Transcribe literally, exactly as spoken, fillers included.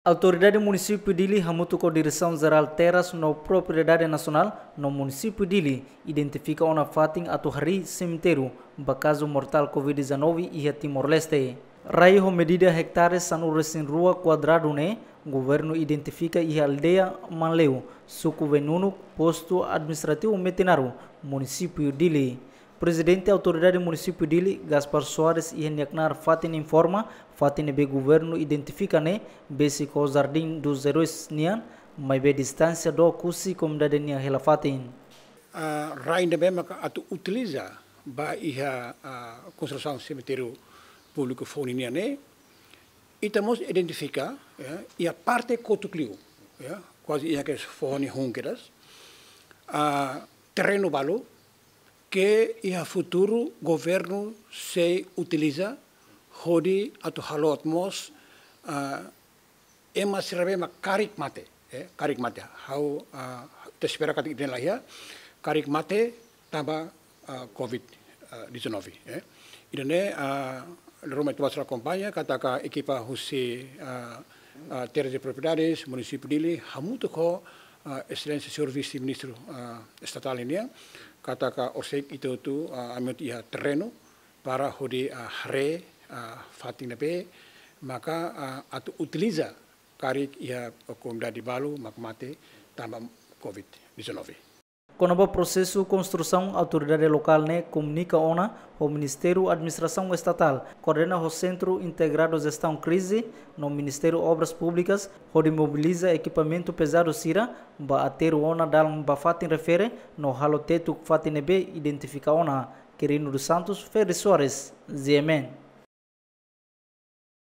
Autoridade Munisípiu Dili hamutuk ho Diresaun Jerál Terras no Propriedade Nasionál no Munisípiu Dili identifika ona fatin atu harii semitériu ba kazu mortál covid dezanove iha Timor-Leste. Rai ho medida ektare sanulu-resin-rua kuadradu ne'e, governu identifika iha aldeia Manleu, suku Venunuk, postu administrativu Metinaro, Munisípiu Dili. Prezidente Autoridade Munisípiu Dili, Gaspar Soares, iha nia knaar fatin informa, fatin ne'ebé governu identifika ne'e besik ho Jardim dos Heróis nian, maibé distánsia dook husi komunidade nian hela fatin. Ah, rai ne'ebé maka atu utiliza ba iha, ah, konstrusaun semitériu públiku foun nian ne'e, ita mós identifika, ya, iha parte kotuk liu, ya, kuaze iha ke foho nia hun kedas, ah, terrenu balu ke iha futuru governu sei utiliza hodi atu halo atu mós, ah, ema sira be mak karik mate, eh, karik mate. Ha'u, ah, ita espera katak ida-ne'e la iha, karik mate tanba, ah, covid, ah, dezanove, eh. Ida-ne'e, ah, ruma ita basa akompaña, katak ekipa husi, ah, ah, Terras e Propriedades, Munisípiu Dili, hamutuk ho, ah, Exelénsia Señór Vise-Ministru, ah, Estatál nian, katak orsida ita hotu, ah, ami hotu iha terrenu, para hodi, ah, haree, ah, fatin ne'ebé maka, ah, atu utiliza karik iha komunidade balu mak mate tanba covid dezanove. Kona-ba prosesu konstrusaun, autoridade lokál ne'e komunika ona ho Ministériu Administrasaun Estatál, koordena ho Sentru Integradu Jestaun Krize no Ministériu Obras Públikas, hodi mobiliza ekipamentu pezadu sira ba aterru ona dalan ba fatin refere no halo tetuk fatin ne'ebé identifika ona. Quirino dos Santos, Ferri Soares, G M N.